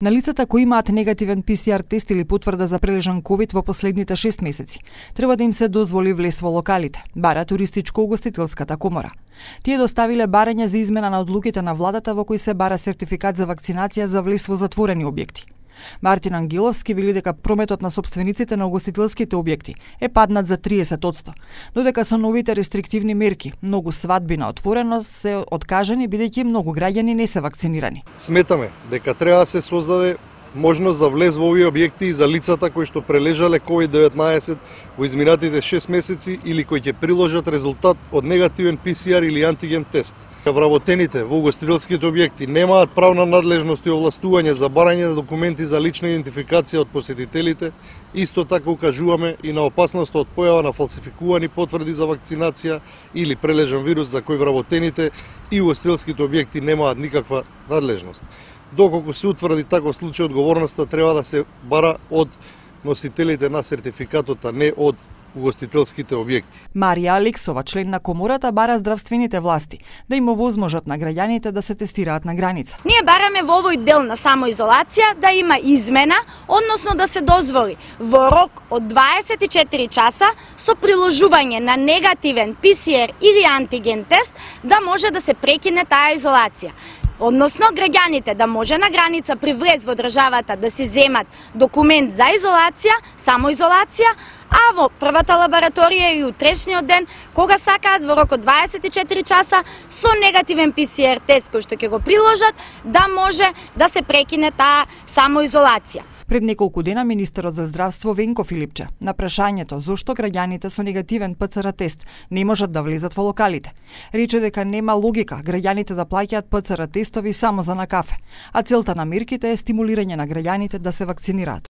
На лицата кои имаат негативен ПСР тест или потврда за прележан ковид во последните 6 месеци, треба да им се дозволи влез во локалите, бара туристичко-угостителската комора. Тие доставиле барање за измена на одлуките на владата во кои се бара сертификат за вакцинација за влез во затворени објекти. Мартин Ангеловски вели дека прометот на сопствениците на угостителските објекти е паднат за 30%, додека со новите рестриктивни мерки многу свадби на отворено се откажани бидејќи многу граѓани не се вакцинирани. Сметаме дека треба да се создаде можност за влез во овие објекти и за лицата кои што прележале COVID-19 во изминатите 6 месеци или кои ќе приложат резултат од негативен ПСР или антиген тест. Вработените во угостителските објекти немаат правна надлежност и овластување за барање на документи за лична идентификација од посетителите. Исто така укажуваме и на опасност од појава на фалсификувани потврди за вакцинација или прележан вирус за кој вработените и угостителските објекти немаат никаква надлежност. Доколку се утврди таков случај, одговорноста треба да се бара од носителите на сертификатот, а не од угостителските објекти. Марија Алексова, член на комората, бара здравствените власти да им овозможат на граѓаните да се тестираат на граница. Ние бараме во овој дел на самоизолација да има измена, односно да се дозволи во рок од 24 часа со приложување на негативен ПСР или антиген тест да може да се прекине таа изолација. Односно, граѓаните да може на граница при влез во државата да си земат документ за изолација, самоизолација, а во првата лабораторија и утрешниот ден, кога сакаат во рок од 24 часа со негативен ПСР тест кој што ќе го приложат, да може да се прекине таа самоизолација. Пред неколку дена министерот за здравство Венко Филипче на прашањето зошто граѓаните со негативен ПЦР тест не можат да влезат во локалите, рече дека нема логика граѓаните да плаќаат ПЦР тестови само за на кафе, а целта на мерките е стимулирање на граѓаните да се вакцинираат.